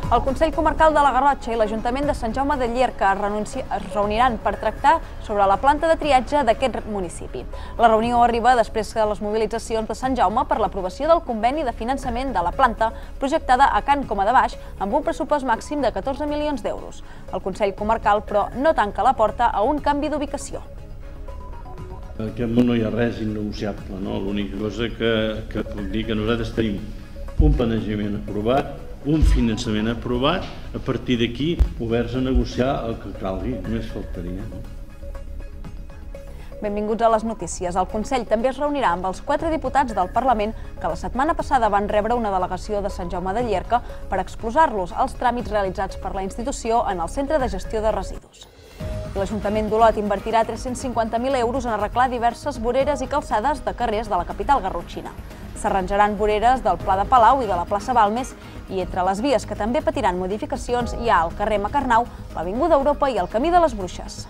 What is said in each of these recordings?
El Consell Comarcal de la Garrotxa i l'Ajuntament de Sant Jaume de Llierca es reuniran per tractar sobre la planta de triatge d'aquest municipi. La reunió arriba després de les mobilitzacions de Sant Jaume per l'aprovació del conveni de finançament de la planta projectada a Can Coma de Baix amb un pressupost màxim de 14 milions d'euros. El Consell Comarcal, però, no tanca la porta a un canvi d'ubicació. En aquest món no hi ha res innegociable, no? L'única cosa que puc dir que nosaltres tenim un planejament aprovat, un finançament aprovat, a partir d'aquí oberts a negociar el que calgui, només faltaria. Benvinguts a les notícies. El Consell també es reunirà amb els 4 diputats del Parlament que la setmana passada van rebre una delegació de Sant Jaume de Llierca per exposar-los als tràmits realitzats per la institució en el Centre de Gestió de Residus. L'Ajuntament d'Olot invertirà 350.000 euros en arreglar diverses voreres i calçades de carrers de la capital garrotxina. S'arranjaran voreres del Pla de Palau i de la plaça Balmes i entre les vies que també patiran modificacions hi ha el carrer Macarnau, l'Avinguda Europa i el Camí de les Bruixes.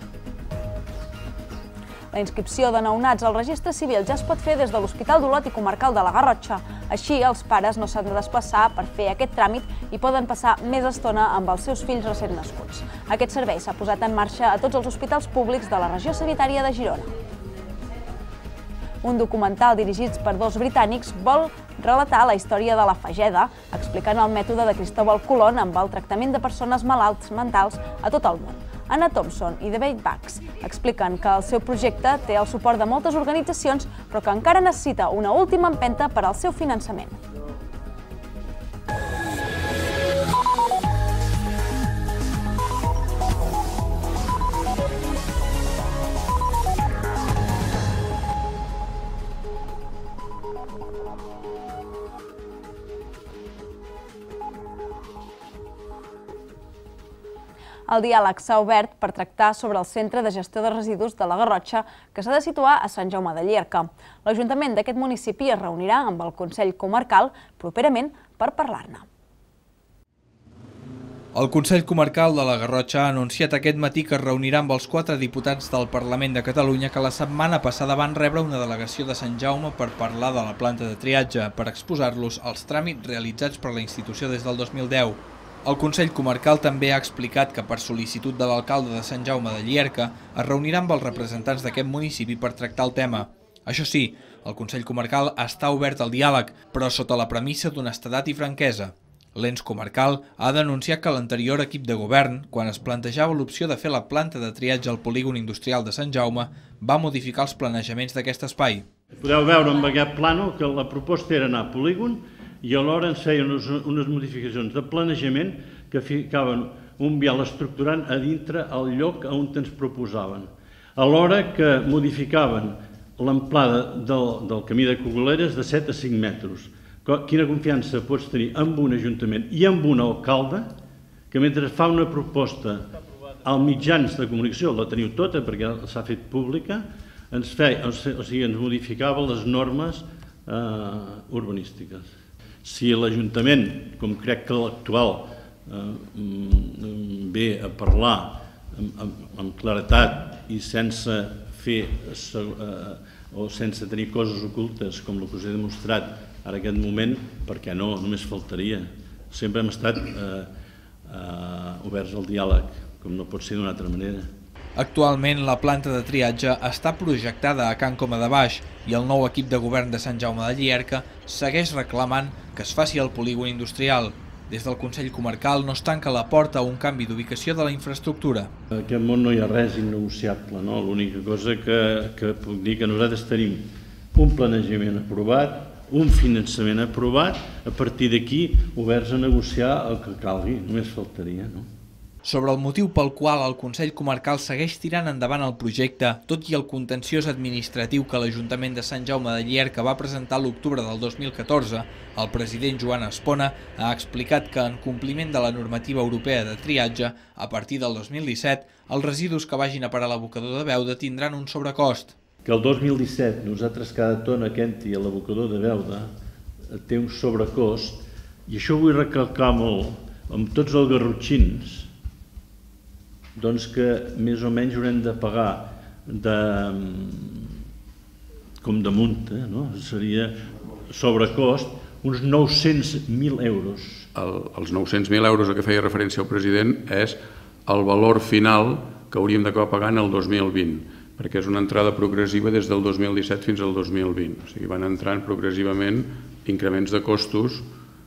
La inscripció de nounats al registre civil ja es pot fer des de l'Hospital d'Olot i Comarcal de la Garrotxa. Així, els pares no s'han de desplaçar per fer aquest tràmit i poden passar més estona amb els seus fills recent nascuts. Aquest servei s'ha posat en marxa a tots els hospitals públics de la regió sanitària de Girona. Un documental dirigit per 2 britànics vol relatar la història de la Fageda, explicant el mètode de Cristóbal Colón amb el tractament de persones malalts mentals a tot el món. Anna Thompson i David Bax expliquen que el seu projecte té el suport de moltes organitzacions, però que encara necessita una última empenta per al seu finançament. El diàleg s'ha obert per tractar sobre el Centre de Gestió de Residus de la Garrotxa, que s'ha de situar a Sant Jaume de Llierca. L'Ajuntament d'aquest municipi es reunirà amb el Consell Comarcal properament per parlar-ne. El Consell Comarcal de la Garrotxa ha anunciat aquest matí que es reunirà amb els 4 diputats del Parlament de Catalunya que la setmana passada van rebre una delegació de Sant Jaume per parlar de la planta de triatge, per exposar-los als tràmits realitzats per la institució des del 2010. El Consell Comarcal també ha explicat que per sol·licitud de l'alcalde de Sant Jaume de Llierca es reunirà amb els representants d'aquest municipi per tractar el tema. Això sí, el Consell Comarcal està obert al diàleg, però sota la premissa d'honestedat i franquesa. L'ens comarcal ha denunciat que l'anterior equip de govern, quan es plantejava l'opció de fer la planta de triatge al polígon industrial de Sant Jaume, va modificar els planejaments d'aquest espai. Podeu veure amb aquest plànol que la proposta era anar a polígon i alhora ens feien unes modificacions de planejament que ficaven un vial estructurant a dintre el lloc on ens proposaven. Alhora que modificaven l'amplada del camí de Cogoleres de 7 a 5 metres. Quina confiança pots tenir amb un ajuntament i amb un alcalde que mentre fa una proposta als mitjans de comunicació, la teniu tota perquè s'ha fet pública, ens modificava les normes urbanístiques. Si l'Ajuntament, com crec que l'actual, ve a parlar amb claretat i sense fer o sense tenir coses ocultes com el que us he demostrat ara aquest moment, perquè no, només faltaria. Sempre hem estat oberts al diàleg, com no pot ser d'una altra manera. Actualment, la planta de triatge està projectada a Can Coma de Baix i el nou equip de govern de Sant Jaume de Llierca segueix reclamant que es faci al polígon industrial. Des del Consell Comarcal no es tanca la porta a un canvi d'ubicació de la infraestructura. En aquest món no hi ha res innegociable, no? L'única cosa que puc dir que nosaltres tenim un planejament aprovat, un finançament aprovat, a partir d'aquí oberts a negociar el que calgui, només faltaria, no? Sobre el motiu pel qual el Consell Comarcal segueix tirant endavant el projecte, tot i el contenciós administratiu que l'Ajuntament de Sant Jaume de Llierca va presentar a l'octubre del 2014, el president Joan Espona ha explicat que en compliment de la normativa europea de triatge, a partir del 2017, els residus que vagin a parar a l'abocador de Beuda tindran un sobrecost. Que el 2017 nosaltres cada tona que entri a l'abocador de Beuda té un sobrecost, i això ho vull recalcar molt amb tots els garrotxins, doncs que més o menys haurem de pagar com de multa, no? Seria sobrecost uns 900.000 euros. Els 900.000 euros a què feia referència el president és el valor final que hauríem d'acabar pagant el 2020, perquè és una entrada progressiva des del 2017 fins al 2020. O sigui, van entrant progressivament increments de costos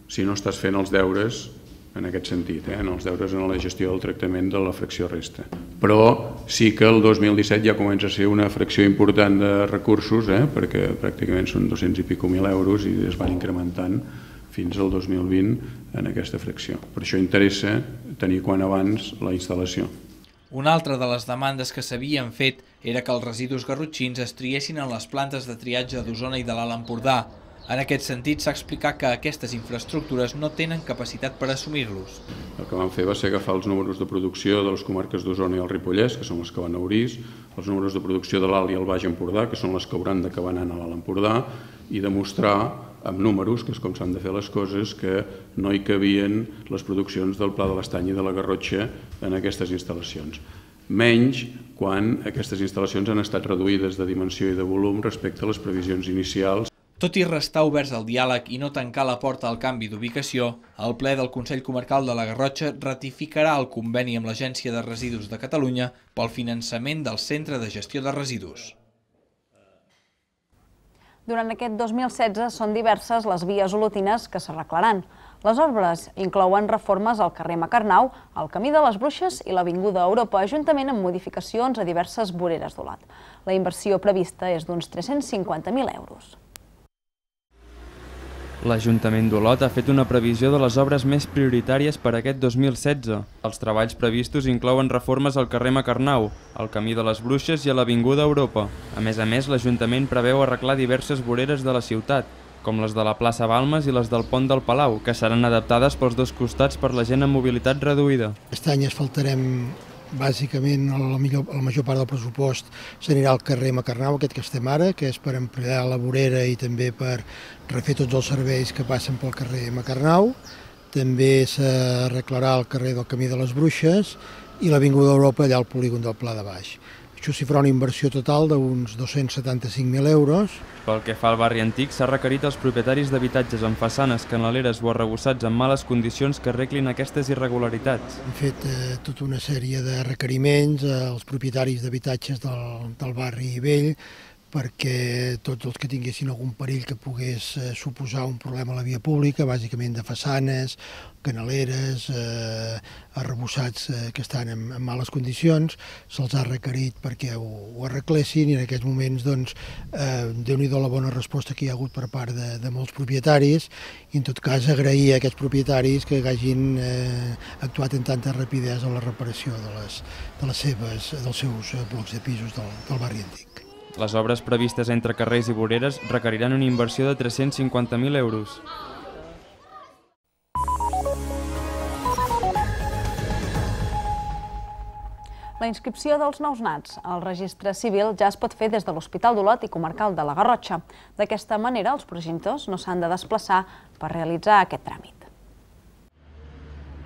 si no estàs fent els deures en aquest sentit, en els deures en la gestió del tractament de la fracció resta. Però sí que el 2017 ja comença a ser una fracció important de recursos, perquè pràcticament són 200 i pico mil euros i es van incrementant fins al 2020 en aquesta fracció. Per això interessa tenir quan abans la instal·lació. Una altra de les demandes que s'havien fet era que els residus garrotxins es triessin en les plantes de triatge d'Osona i de l'Alt Empordà. En aquest sentit, s'ha explicat que aquestes infraestructures no tenen capacitat per assumir-los. El que vam fer va ser agafar els números de producció de les comarques d'Osona i el Ripollès, que són les que van a Orís, els números de producció de l'Alt i el Baix Empordà, que són les que hauran d'acabar anant a l'Alt Empordà, i demostrar amb números, que és com s'han de fer les coses, que no hi cabien les produccions del Pla de l'Estany i de la Garrotxa en aquestes instal·lacions. Menys quan aquestes instal·lacions han estat reduïdes de dimensió i de volum respecte a les previsions inicials. Tot i restar oberts al diàleg i no tancar la porta al canvi d'ubicació, el ple del Consell Comarcal de la Garrotxa ratificarà el conveni amb l'Agència de Residus de Catalunya pel finançament del Centre de Gestió de Residus. Durant aquest 2016 són diverses les vies olotines que s'arreglaran. Les obres inclouen reformes al carrer Macarnau, al Camí de les Bruixes i l'Avinguda Europa, juntament amb modificacions a diverses voreres d'Olot. La inversió prevista és d'uns 350.000 euros. L'Ajuntament d'Olot ha fet una previsió de les obres més prioritàries per a aquest 2016. Els treballs previstos inclouen reformes al carrer Macarnau, al Camí de les Bruixes i a l'Avinguda Europa. A més, l'Ajuntament preveu arreglar diverses voreres de la ciutat, com les de la plaça Balmes i les del Pont del Palau, que seran adaptades pels dos costats per la gent amb mobilitat reduïda. Aquest any asfaltarem bàsicament la major part del pressupost s'anirà al carrer Macarnau, aquest que estem ara, que és per ampliar la vorera i també per refer tots els serveis que passen pel carrer Macarnau. També s'arreglarà el carrer del Camí de les Bruixes i l'Avinguda Europa allà al polígon del Pla de Baix. Això s'hi farà una inversió total d'uns 275.000 euros. Pel que fa al barri antic, s'ha requerit als propietaris d'habitatges amb façanes, canaleres o arrebossats en males condicions que arreglin aquestes irregularitats. Hem fet tota una sèrie de requeriments als propietaris d'habitatges del barri vell perquè tots els que tinguessin algun perill que pogués suposar un problema a la via pública, bàsicament de façanes, canaleres, arrebossats que estan en males condicions, se'ls ha requerit perquè ho arreglessin i en aquests moments, doncs, Déu-n'hi-do la bona resposta que hi ha hagut per part de molts propietaris i en tot cas agrair a aquests propietaris que hagin actuat amb tanta rapidesa en la reparació dels seus blocs de pisos del barri antic. Les obres previstes entre carrers i voreres requeriran una inversió de 350.000 euros. La inscripció dels nous nats al registre civil ja es pot fer des de l'Hospital d'Olot i Comarcal de la Garrotxa. D'aquesta manera, els progenitors no s'han de desplaçar per realitzar aquest tràmit.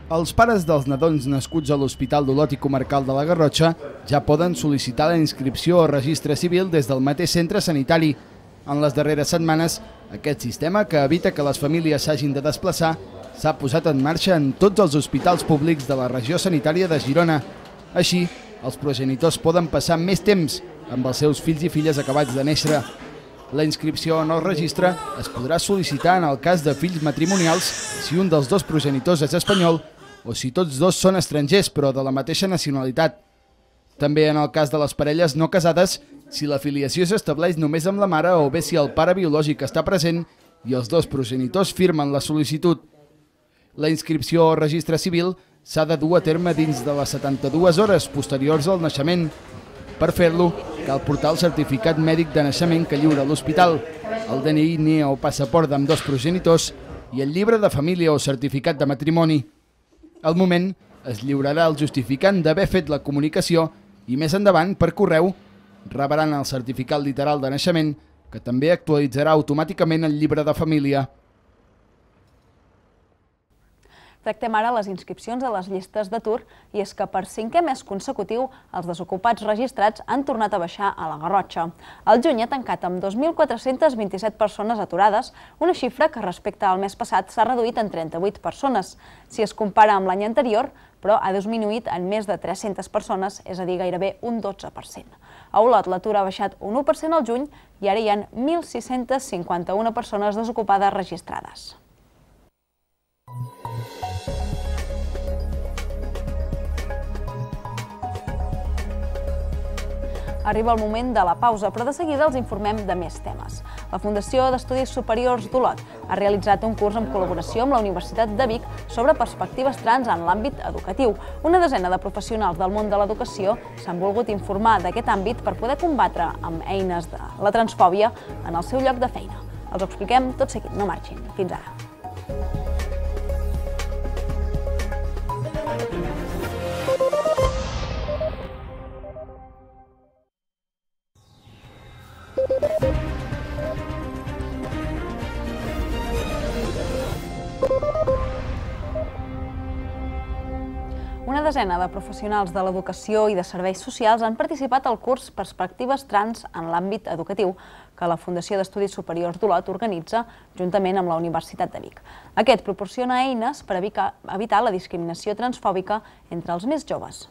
Els pares dels nadons nascuts a l'Hospital d'Olot i Comarcal de la Garrotxa ja poden sol·licitar la inscripció al registre civil des del mateix centre sanitari. En les darreres setmanes, aquest sistema, que evita que les famílies s'hagin de desplaçar, s'ha posat en marxa en tots els hospitals públics de la regió sanitària de Girona. Així, els progenitors poden passar més temps amb els seus fills i filles acabats de néixer. La inscripció en el registre es podrà sol·licitar en el cas de fills matrimonials si un dels dos progenitors és espanyol o si tots dos són estrangers però de la mateixa nacionalitat. També en el cas de les parelles no casades, si la filiació s'estableix només amb la mare o bé si el pare biològic està present i els dos progenitors firmen la sol·licitud. La inscripció al registre civil s'ha de dur a terme dins de les 72 hores posteriors al naixement. Per fer-lo, cal portar el certificat mèdic de naixement que lliura l'hospital, el DNI, NIE o passaport d'ambdós progenitors i el llibre de família o certificat de matrimoni. Al moment, es lliurarà el justificant d'haver fet la comunicació i més endavant, per correu, rebran el certificat literal de naixement, que també actualitzarà automàticament el llibre de família. Tractem ara les inscripcions a les llistes d'atur i és que per 5è mes consecutiu els desocupats registrats han tornat a baixar a la Garrotxa. El juny ha tancat amb 2.427 persones aturades, una xifra que respecte al mes passat s'ha reduït en 38 persones. Si es compara amb l'any anterior, però ha disminuït en més de 300 persones, és a dir, gairebé un 12%. A Olot l'atur ha baixat un 1% al juny i ara hi ha 1.651 persones desocupades registrades. Arriba el moment de la pausa, però de seguida els informem de més temes. La Fundació d'Estudis Superiors d'Olot ha realitzat un curs en col·laboració amb la Universitat de Vic sobre perspectives trans en l'àmbit educatiu. Una desena de professionals del món de l'educació s'han volgut informar d'aquest àmbit per poder combatre amb eines de la transfòbia en el seu lloc de feina. Els ho expliquem tot seguit, no marxin. Fins ara. Una desena de professionals de l'educació i de serveis socials han participat al curs Perspectives Trans en l'àmbit educatiu que la Fundació d'Estudis Superiors d'Olot organitza juntament amb la Universitat de Vic. Aquest proporciona eines per evitar la discriminació transfòbica entre els més joves.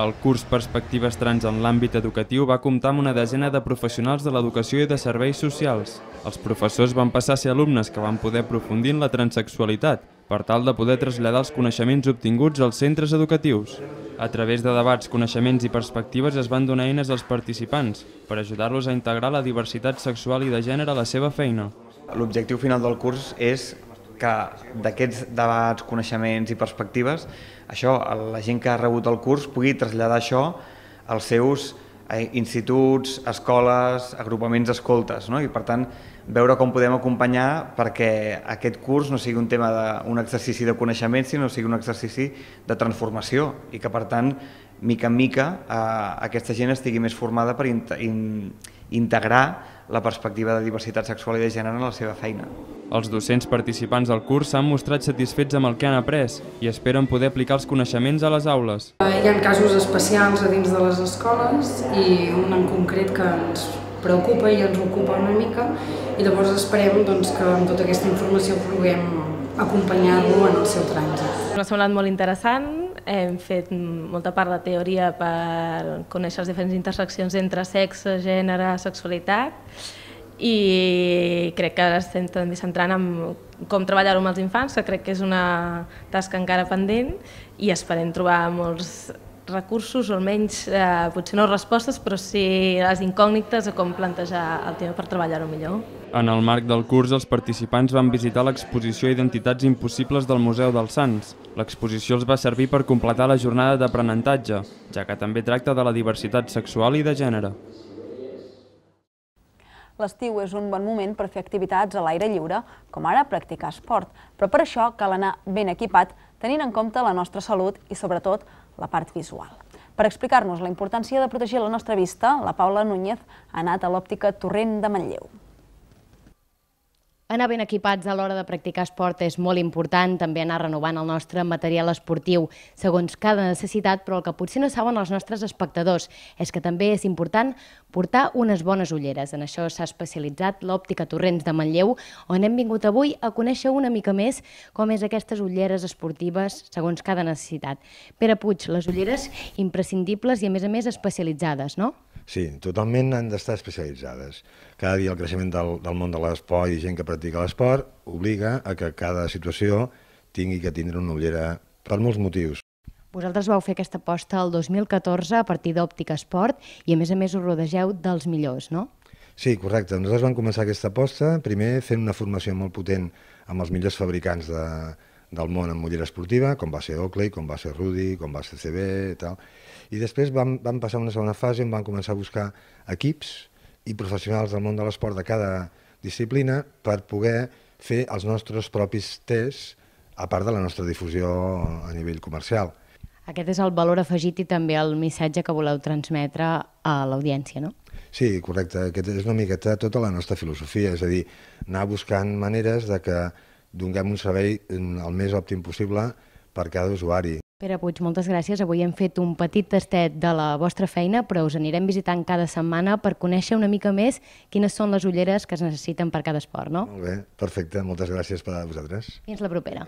El curs Perspectives Trans en l'àmbit educatiu va comptar amb una desena de professionals de l'educació i de serveis socials. Els professors van passar a ser alumnes que van poder aprofundir en la transsexualitat, per tal de poder traslladar els coneixements obtinguts als centres educatius. A través de debats, coneixements i perspectives es van donar eines als participants per ajudar-los a integrar la diversitat sexual i de gènere a la seva feina. L'objectiu final del curs és que d'aquests debats, coneixements i perspectives, la gent que ha rebut el curs pugui traslladar això als seus instituts, escoles, agrupaments d'escoltes, i per tant veure com podem acompanyar perquè aquest curs no sigui un tema d'un exercici de coneixement, sinó que sigui un exercici de transformació i que per tant, mica en mica, aquesta gent estigui més formada per integrar la perspectiva de diversitat sexual i de gènere en la seva feina. Els docents participants del curs s'han mostrat satisfets amb el que han après i esperen poder aplicar els coneixements a les aules. Hi ha casos especials a dins de les escoles i un en concret que ens preocupa i ens ocupa una mica i llavors esperem que amb tota aquesta informació puguem acompanyar-lo en el seu trànsit. M'ha semblat molt interessant, hem fet molta part de teoria per conèixer les diferents interseccions entre sexe, gènere, sexualitat i crec que ara estem també centrant en com treballar-ho amb els infants, que crec que és una tasca encara pendent i esperem trobar molts recursos, o almenys potser no respostes, però sí les incògnites a com plantejar el tema per treballar-ho millor. En el marc del curs, els participants van visitar l'exposició Identitats Impossibles del Museu dels Sants. L'exposició els va servir per completar la jornada d'aprenentatge, ja que també tracta de la diversitat sexual i de gènere. L'estiu és un bon moment per fer activitats a l'aire lliure, com ara practicar esport, però per això cal anar ben equipat, tenint en compte la nostra salut i, sobretot, la part visual. Per explicar-nos la importància de protegir la nostra vista, la Paula Núñez ha anat a l'òptica Torrent de Manlleu. Anar ben equipats a l'hora de practicar esport és molt important, també anar renovant el nostre material esportiu segons cada necessitat, però el que potser no saben els nostres espectadors és que també és important portar unes bones ulleres. En això s'ha especialitzat l'òptica Torrents de Manlleu, on hem vingut avui a conèixer una mica més com és aquestes ulleres esportives segons cada necessitat. Pere Puig, les ulleres imprescindibles i a més especialitzades, no? Sí, totalment han d'estar especialitzades. Cada dia el creixement del món de l'esport i gent que practica l'esport obliga a que cada situació tingui que tindre una ullera per molts motius. Vosaltres vau fer aquesta aposta el 2014 a partir d'Òptica Esport i a més us rodegeu dels millors, no? Sí, correcte. Nosaltres vam començar aquesta aposta primer fent una formació molt potent amb els millors fabricants del món en ullera esportiva, com va ser Oakley, com va ser Rudy, com va ser CB i tal. I després vam passar a una segona fase on vam començar a buscar equips i professionals del món de l'esport de cada disciplina per poder fer els nostres propis tests a part de la nostra difusió a nivell comercial. Aquest és el valor afegit i també el missatge que voleu transmetre a l'audiència, no? Sí, correcte. Aquesta és una miqueta tota la nostra filosofia, és a dir, anar buscant maneres de que donem un servei el més òptim possible per cada usuari. Pere Puig, moltes gràcies. Avui hem fet un petit tastet de la vostra feina, però us anirem visitant cada setmana per conèixer una mica més quines són les ulleres que es necessiten per cada esport, no? Molt bé, perfecte. Moltes gràcies per a vosaltres. Fins la propera.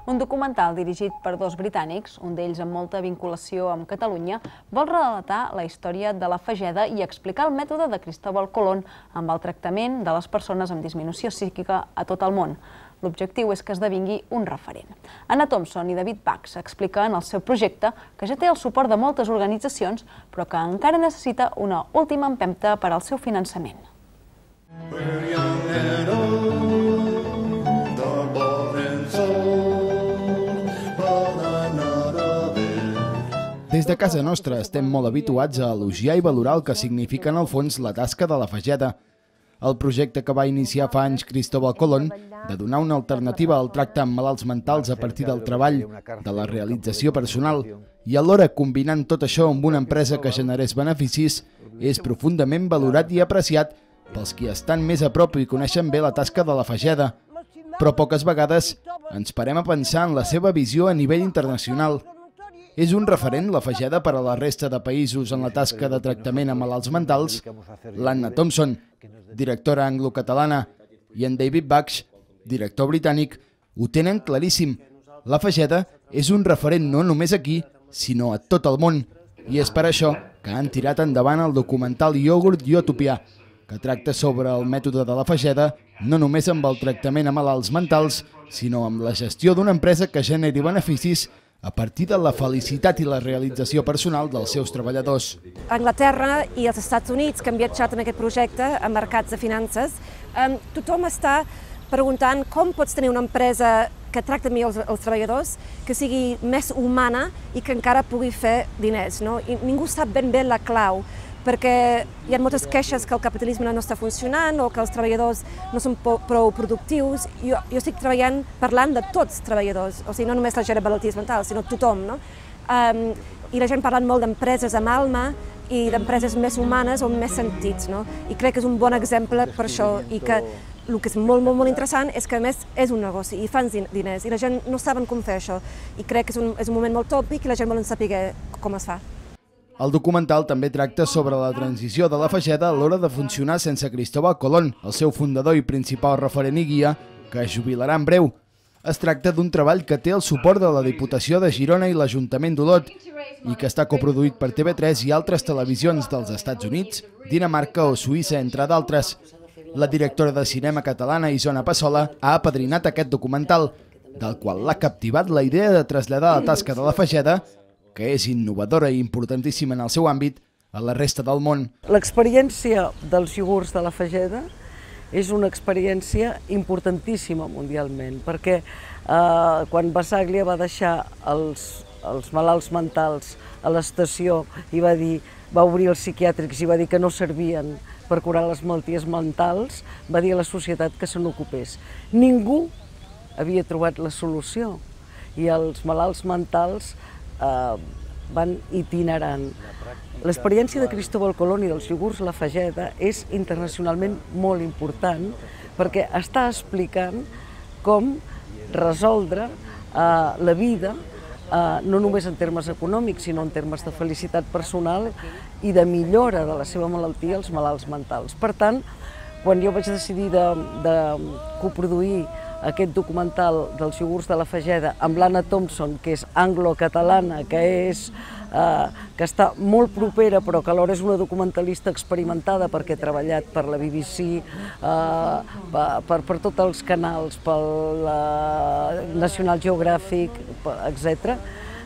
Un documental dirigit per dos britànics, un d'ells amb molta vinculació amb Catalunya, vol relatar la història de la Fageda i explicar el mètode de Cristóbal Colón amb el tractament de les persones amb disminució psíquica a tot el món. L'objectiu és que esdevingui un referent. Anna Thompson i David Bax expliquen el seu projecte, que ja té el suport de moltes organitzacions, però que encara necessita una última empenta per al seu finançament. Des de casa nostra estem molt habituats a elogiar i valorar el que significa en el fons la tasca de la Fageda. El projecte que va iniciar fa anys Cristóbal Colón, de donar una alternativa al tracte amb malalts mentals a partir del treball, de la realització personal, i alhora combinant tot això amb una empresa que generés beneficis, és profundament valorat i apreciat pels qui estan més a prop i coneixen bé la tasca de la Fageda. Però poques vegades ens parem a pensar en la seva visió a nivell internacional. És un referent, la Fageda, per a la resta de països en la tasca de tractament a malalts mentals. L'Anna Thompson, directora anglo-catalana, i en David Bax, director britànic, ho tenen claríssim. La Fageda és un referent no només aquí, sinó a tot el món. I és per això que han tirat endavant el documental Iogurt i Utopia, que tracta sobre el mètode de la Fageda, no només amb el tractament a malalts mentals, sinó amb la gestió d'una empresa que generi beneficis a partir de la felicitat i la realització personal dels seus treballadors. Anglaterra i els Estats Units, que han viatjat en aquest projecte a mercats de finances, tothom està preguntant com pots tenir una empresa que tracta millor els treballadors, que sigui més humana i que encara pugui fer diners. I ningú sap ben bé la clau, perquè hi ha moltes queixes que el capitalisme no està funcionant o que els treballadors no són prou productius. Jo estic parlant de tots els treballadors, o sigui, no només la gent amb malalties mentals, sinó tothom. I la gent parlant molt d'empreses amb alma i d'empreses més humanes o amb més sentits. I crec que és un bon exemple per això, i que el que és molt, molt, molt interessant és que a més és un negoci i fan diners i la gent no saben com fer això, i crec que és un moment molt tòpic i la gent vol saber com es fa. El documental també tracta sobre la transició de la Fageda a l'hora de funcionar sense Cristóbal Colón, el seu fundador i principal referent i guia, que es jubilarà en breu. Es tracta d'un treball que té el suport de la Diputació de Girona i l'Ajuntament d'Olot i que està coproduït per TV3 i altres televisions dels Estats Units, Dinamarca o Suïssa, entre d'altres. La directora de cinema catalana, Isona Passola, ha apadrinat aquest documental, del qual l'ha captivat la idea de traslladar la tasca de la Fageda, que és innovadora i importantíssima en el seu àmbit, a la resta del món. L'experiència dels iogurts de la Fageda és una experiència importantíssima mundialment, perquè quan Basaglia va deixar els malalts mentals a l'estació i va obrir els psiquiàtrics i va dir que no servien per curar les malalties mentals, va dir a la societat que se n'ocupés. Ningú havia trobat la solució i els malalts mentals van itinerant. L'experiència de Cristóbal Colón i dels iogurts La Fageda és internacionalment molt important perquè està explicant com resoldre la vida no només en termes econòmics, sinó en termes de felicitat personal i de millora de la seva malaltia als malalts mentals. Per tant, quan jo vaig decidir de coproduir aquest documental dels iogurts de la Fageda amb l'Anna Thompson, que és anglo-catalana, que està molt propera, però que alhora és una documentalista experimentada perquè ha treballat per la BBC, per tots els canals, pel National Geographic, etc.,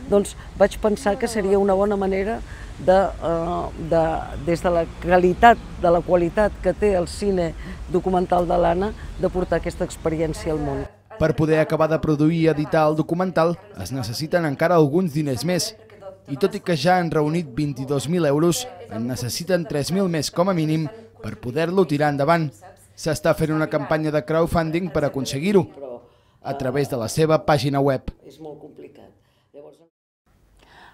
doncs vaig pensar que seria una bona manera des de la qualitat que té el cine documental de l'Anna, de portar aquesta experiència al món. Per poder acabar de produir i editar el documental es necessiten encara alguns diners més, i tot i que ja han reunit 22.000 euros, en necessiten 3.000 més com a mínim per poder-lo tirar endavant. S'està fent una campanya de crowdfunding per aconseguir-ho, a través de la seva pàgina web. És molt complicat.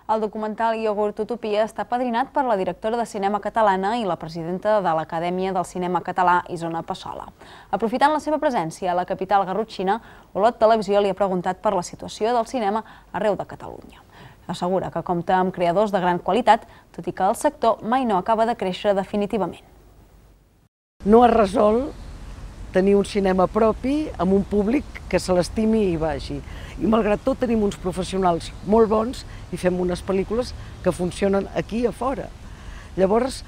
El documental Iogurt Utopia està padrinat per la directora de cinema catalana i la presidenta de l'Acadèmia del Cinema Català, Isona Passola. Aprofitant la seva presència a la capital garrotxina, Olot Televisió li ha preguntat per la situació del cinema arreu de Catalunya. Assegura que compta amb creadors de gran qualitat, tot i que el sector mai no acaba de créixer definitivament. No es resol tenir un cinema propi amb un públic que se l'estimi i vagi. I malgrat tot tenim uns professionals molt bons i fem unes pel·lícules que funcionen aquí a fora. Llavors,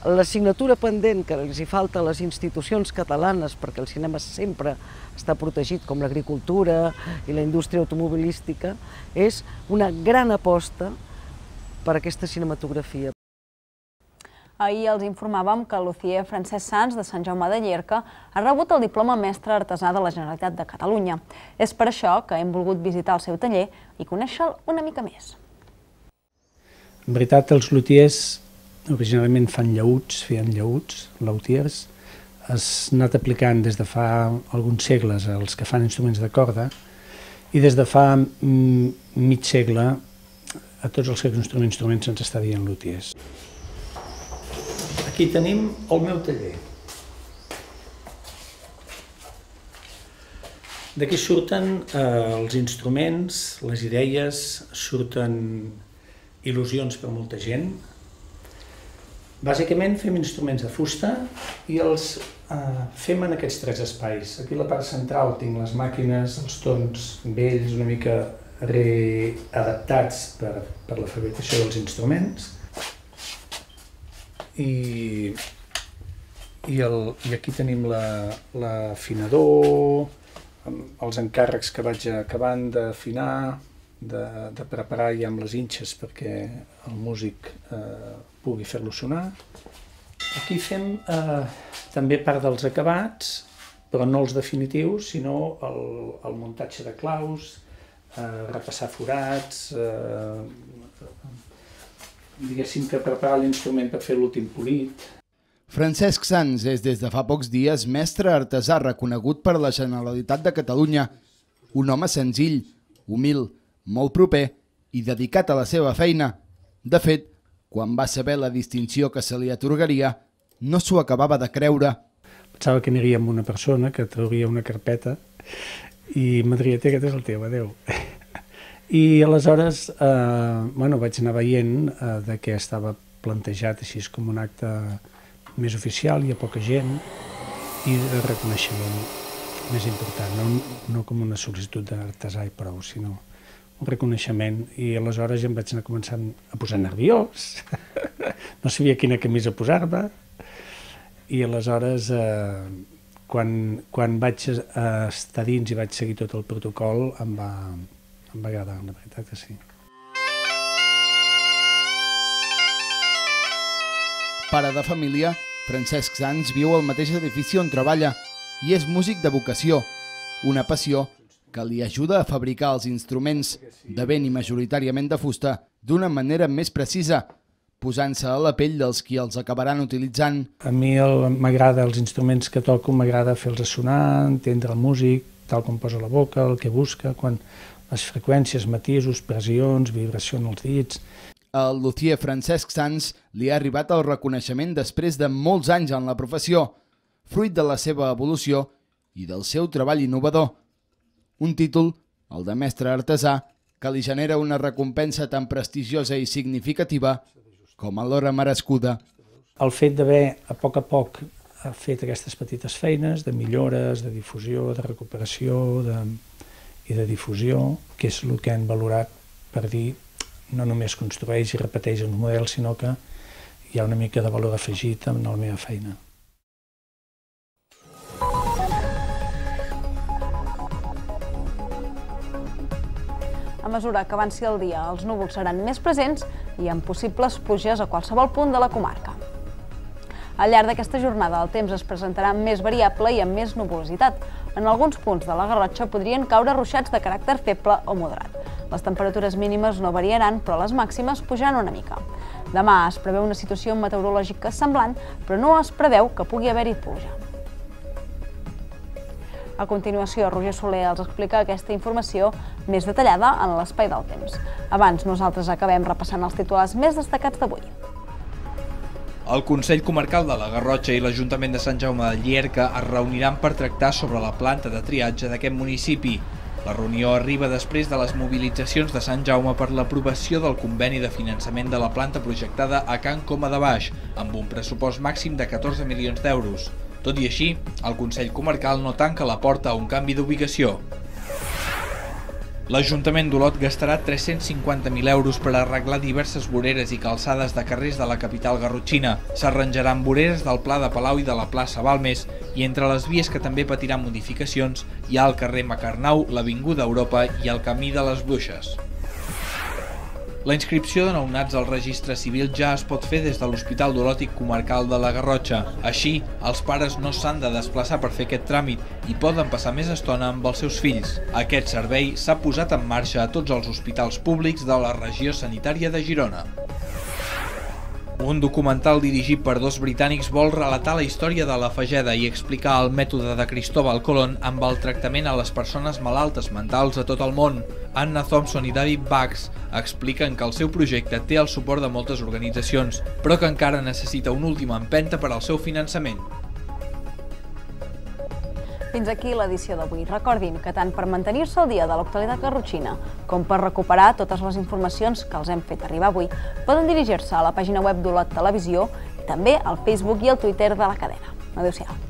l'assignatura pendent que els hi falta a les institucions catalanes, perquè el cinema sempre està protegit com l'agricultura i la indústria automobilística, és una gran aposta per aquesta cinematografia. Ahir els informàvem que el luthier Francesc Sans, de Sant Jaume de Llierca, ha rebut el diploma mestre artesà de la Generalitat de Catalunya. És per això que hem volgut visitar el seu taller i conèixer-lo una mica més. En veritat, els luthiers originalment feien llaüts, luthiers. Has anat aplicant des de fa alguns segles els que fan instruments de corda i des de fa mig segle a tots els que construïm instruments se'ns està dient luthiers. Aquí tenim el meu taller. D'aquí surten els instruments, les idees, surten il·lusions per molta gent. Bàsicament fem instruments de fusta i els fem en aquests tres espais. Aquí a la part central tinc les màquines, els tons vells, una mica readaptats per la fabricació dels instruments. I aquí tenim l'afinador, els encàrrecs que vaig acabant d'afinar, de preparar ja amb les inxes perquè el músic pugui fer-lo sonar. Aquí fem també part dels acabats, però no els definitius, sinó el muntatge de claus, repassar forats, diguéssim que preparar l'instrument per fer l'últim polit. Francesc Sans és des de fa pocs dies mestre artesà reconegut per la Generalitat de Catalunya. Un home senzill, humil, molt proper i dedicat a la seva feina. De fet, quan va saber la distinció que se li atorgaria, no s'ho acabava de creure. Pensava que aniria amb una persona que trauria una carpeta i m'adria, aquest és el teu, adeu. I aleshores vaig anar veient que estava plantejat així com un acte més oficial, hi ha poca gent, i de reconeixement més important, no com una sol·licitud d'artesà i prou, sinó un reconeixement. I aleshores ja em vaig anar començant a posar nerviós, no sabia quina camisa posar-me, i aleshores quan vaig estar dins i vaig seguir tot el protocol em va agradar, la veritat que sí. Pare de família, Francesc Sans viu al mateix edifici on treballa i és músic de vocació, una passió que li ajuda a fabricar els instruments, de vent i majoritàriament de fusta, d'una manera més precisa, posant-se a la pell dels qui els acabaran utilitzant. A mi m'agrada els instruments que toco, m'agrada fer-los sonar, entendre el músic, tal com posa la boca, el que busca, quan les freqüències, matisos, pressions, vibració en els dits. Al luthier Francesc Sans li ha arribat el reconeixement després de molts anys en la professió, fruit de la seva evolució i del seu treball innovador. Un títol, el de mestre artesà, que li genera una recompensa tan prestigiosa i significativa com alhora merescuda. El fet d'haver, a poc, fet aquestes petites feines de millores, de difusió, de recuperació i de difusió, que és el que han valorat per dir no només construeix i repeteix els models, sinó que hi ha una mica de valor afegit en la meva feina. A mesura que avanci el dia, els núvols seran més presents i amb possibles pluges a qualsevol punt de la comarca. Al llarg d'aquesta jornada el temps es presentarà més variable i amb més nuvolositat. En alguns punts de la Garrotxa podrien caure ruixats de caràcter feble o moderat. Les temperatures mínimes no variaran, però les màximes pujaran una mica. Demà es preveu una situació meteorològica semblant, però no es preveu que pugui haver-hi pluja. A continuació, Roger Soler els explica aquesta informació més detallada en l'espai del temps. Abans, nosaltres acabem repassant els titulars més destacats d'avui. El Consell Comarcal de la Garrotxa i l'Ajuntament de Sant Jaume de Llierca es reuniran per tractar sobre la planta de triatge d'aquest municipi. La reunió arriba després de les mobilitzacions de Sant Jaume per l'aprovació del conveni de finançament de la planta projectada a Can Coma de Baix, amb un pressupost màxim de 14 milions d'euros. Tot i així, el Consell Comarcal no tanca la porta a un canvi d'ubicació. L'Ajuntament d'Olot gastarà 350.000 euros per arreglar diverses voreres i calçades de carrers de la capital garrotxina. S'arranjaran voreres del Pla de Palau i de la plaça Balmes, i entre les vies que també patiran modificacions hi ha el carrer Macarnau, l'Avinguda Europa i el Camí de les Bruixes. La inscripció de nounats al registre civil ja es pot fer des de l'Hospital d'Olot Comarcal de la Garrotxa. Així, els pares no s'han de desplaçar per fer aquest tràmit i poden passar més estona amb els seus fills. Aquest servei s'ha posat en marxa a tots els hospitals públics de la regió sanitària de Girona. Un documental dirigit per dos britànics vol relatar la història de la Fageda i explicar el mètode de Cristóbal Colón amb el tractament a les persones malaltes mentals a tot el món. Anna Thompson i David Bax expliquen que el seu projecte té el suport de moltes organitzacions, però que encara necessita una última empenta per al seu finançament. Fins aquí l'edició d'avui. Recordin que tant per mantenir-se al dia de l'actualitat garrotxina com per recuperar totes les informacions que els hem fet arribar avui, poden dirigir-se a la pàgina web d'Olot Televisió i també al Facebook i al Twitter de la cadena. Adéu-siau.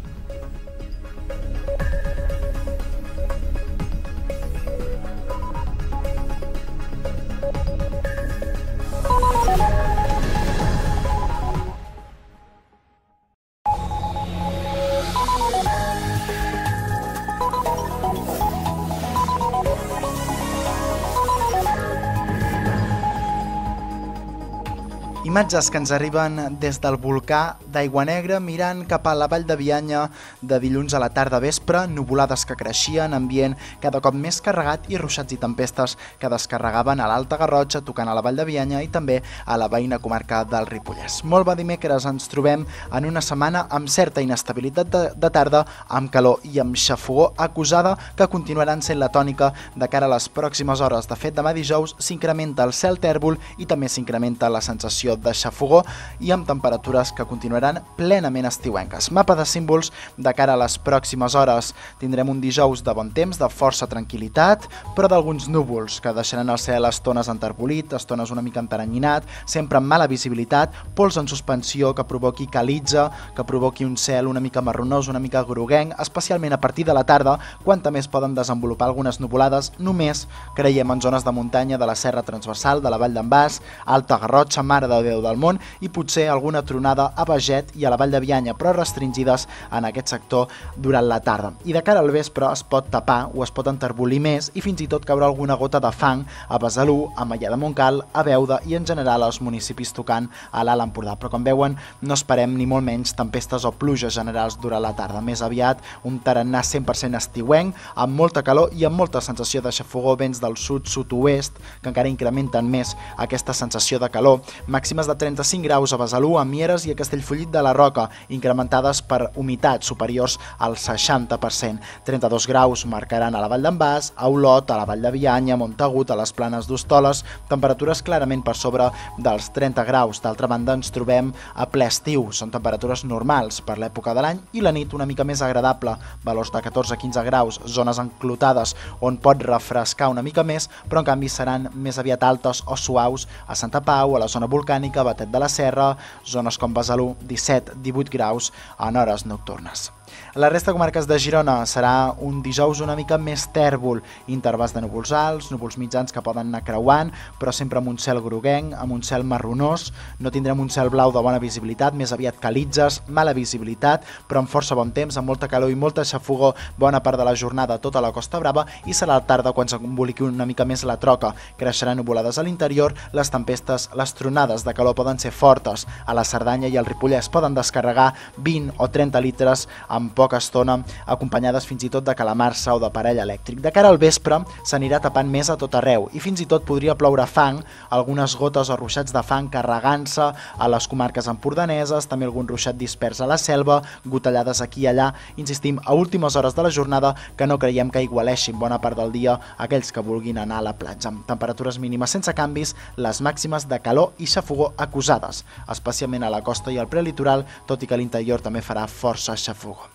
Imatges que ens arriben des del volcà d'Aiguanegra mirant cap a la Vall de Bianya de dilluns a la tarda vespre, nuvolades que creixien, ambient cada cop més carregat i ruixats i tempestes que descarregaven a l'Alta Garrotxa, tocant a la Vall de Bianya i també a la veïna comarca del Ripollès. Molt bon dimecres, ens trobem en una setmana amb certa inestabilitat de tarda, amb calor i amb xafogó acusada que continuaran sent la tònica de cara a les pròximes hores. De fet, demà dijous s'incrementa el cel tèrbol i també s'incrementa la sensació de xafogó i amb temperatures que continuaran plenament estiuenques. Mapa de símbols de cara a les pròximes hores. Tindrem un dijous de bon temps, de força tranquil·litat, però d'alguns núvols que deixaran el cel estones enterbolit, estones una mica enteranyinat, sempre amb mala visibilitat, pols en suspensió que provoqui calitza, que provoqui un cel una mica marronós, una mica groguenc, especialment a partir de la tarda, quan també es poden desenvolupar algunes nuvolades, només creiem en zones de muntanya de la Serra Transversal, de la Vall d'en Bas, Alta Garrotxa, Mare de Déu del Món i potser alguna tronada a Beget i a la Vall de Bianya, però restringides en aquest sector durant la tarda. I de cara al vespre es pot tapar o es pot enterbolir més i fins i tot caure alguna gota de fang a Besalú, a Maià de Montcal, a Beuda i en general als municipis tocant a l'Alt Empordà. Però com veuen, no esperem ni molt menys tempestes o pluges generals durant la tarda. Més aviat un tarannà 100% estiuenc, amb molta calor i amb molta sensació de xafogó, vents del sud-sud-oest, que encara incrementen més aquesta sensació de calor. Màximes de 35 graus a Besalú, a Mieres i a Castellfollit de la Roca, incrementades per humitats superiors al 60%. 32 graus marcaran a la Vall d'en Bas, a Olot, a la Vall de Bianya, a Montagut, a les Planes d'Hostoles, temperatures clarament per sobre dels 30 graus. D'altra banda, ens trobem a ple estiu, són temperatures normals per l'època de l'any i la nit una mica més agradable, valors de 14-15 graus, zones enclotades on pot refrescar una mica més, però en canvi seran més aviat altes o suaus a Santa Pau, a la zona volcànica, Batet de la Serra, zones com Besalú, 17-18 graus en hores nocturnes. A la resta de comarques de Girona serà un dijous una mica més tèrbol, intervals de núvols alts, núvols mitjans que poden anar creuant, però sempre amb un cel groguenc, amb un cel marronós. No tindrem un cel blau de bona visibilitat, més aviat calitzes, mala visibilitat, però amb força bon temps, amb molta calor i molta xafogó bona part de la jornada a tota la Costa Brava, i serà a la tarda quan s'emboliqui una mica més la troca. Creixeran nuvolades a l'interior, les tempestes, les tronades de calor poden ser fortes. A la Cerdanya i al Ripollès poden descarregar 20 o 30 litres en poca estona, acompanyades fins i tot de calamarsa o d'aparell elèctric. De cara al vespre s'anirà tapant més a tot arreu i fins i tot podria ploure fang, algunes gotes o ruixats de fang carregant-se a les comarques empordaneses, també algun ruixat dispers a la selva, gotellades aquí i allà, insistim, a últimes hores de la jornada que no creiem que igualeixin bona part del dia aquells que vulguin anar a la platja. Temperatures mínimes sense canvis, les màximes de calor i xafogó acusades, especialment a la costa i al prelitoral, tot i que a l'interior també farà força xafogó.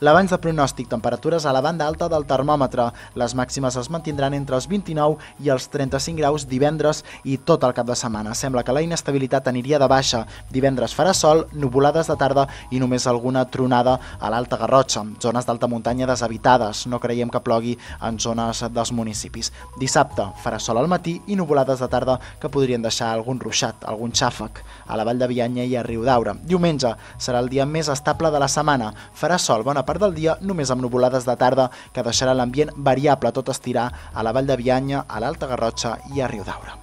L'abans de pronòstic, temperatures a la banda alta del termòmetre. Les màximes es mantindran entre els 29 i els 35 graus divendres i tot el cap de setmana. Sembla que la inestabilitat aniria de baixa. Divendres farà sol, nuvolades de tarda i només alguna tronada a l'Alta Garrotxa. Zones d'alta muntanya deshabitades. No creiem que plogui en zones dels municipis. Dissabte farà sol al matí i nuvolades de tarda que podrien deixar algun ruixat, algun xàfec a la Vall de Bianya i a Riudaura. Diumenge serà el dia més estable de la setmana. Farà sol bona part del dia, només amb nuvolades de tarda que deixarà l'ambient variable, tot estirar a la Vall de Bianya, a l'Alta Garrotxa i a Riudaura.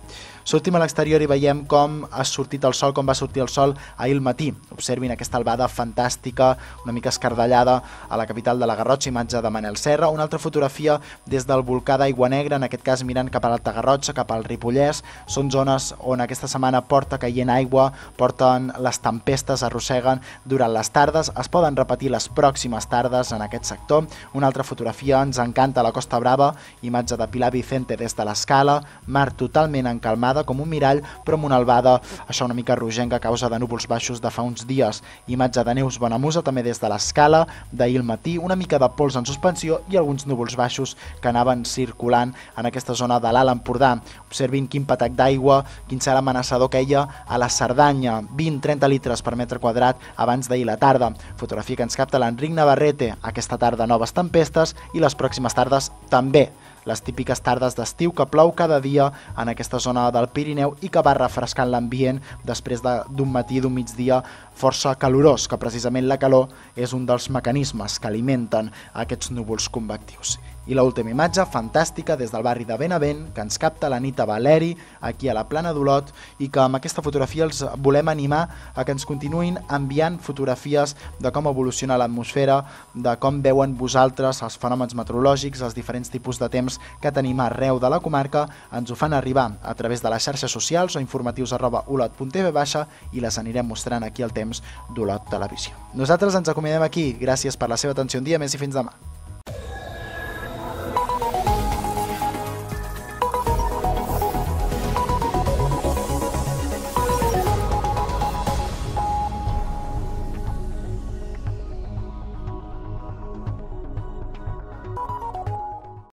Sortim a l'exterior i veiem com ha sortit el sol, com va sortir el sol ahir al matí. Observin aquesta albada fantàstica, una mica escardellada a la capital de la Garrotxa, imatge de Manel Serra. Una altra fotografia des del volcà d'Aigua Negra, en aquest cas mirant cap a l'Alta Garrotxa, cap al Ripollès. Són zones on aquesta setmana porta caient aigua, porten les tempestes, arrosseguen durant les tardes. Es poden repetir les pròximes tardes en aquest sector. Una altra fotografia, ens encanta la Costa Brava, imatge de Pilar Vicente des de l'Escala, mar totalment encalmada, com un mirall, però amb una albada, això una mica rogenca a causa de núvols baixos de fa uns dies. Imatge de Neus Bonamusa, també des de l'Escala, d'ahir al matí, una mica de pols en suspensió i alguns núvols baixos que anaven circulant en aquesta zona de l'Alt Empordà. Observin quin patac d'aigua, quin cel amenaçador queia a la Cerdanya, 20-30 litres per metre quadrat abans d'ahir la tarda. Fotografia que ens capta l'Enric Navarrete, aquesta tarda noves tempestes i les pròximes tardes també. Les típiques tardes d'estiu que plou cada dia en aquesta zona del Pirineu i que va refrescant l'ambient després d'un matí, d'un migdia força calorós, que precisament la calor és un dels mecanismes que alimenten aquests núvols convectius. I l'última imatge, fantàstica, des del barri de Benavent, que ens capta la Anita Valeri, aquí a la Plana d'Olot, i que amb aquesta fotografia els volem animar a que ens continuïn enviant fotografies de com evoluciona l'atmosfera, de com veuen vosaltres els fenòmens meteorològics, els diferents tipus de temps que tenim arreu de la comarca. Ens ho fan arribar a través de les xarxes socials o informatius@olot.tv i les anirem mostrant aquí al temps d'Olot Televisió. Nosaltres ens acomiadem aquí. Gràcies per la seva atenció un dia més i fins demà.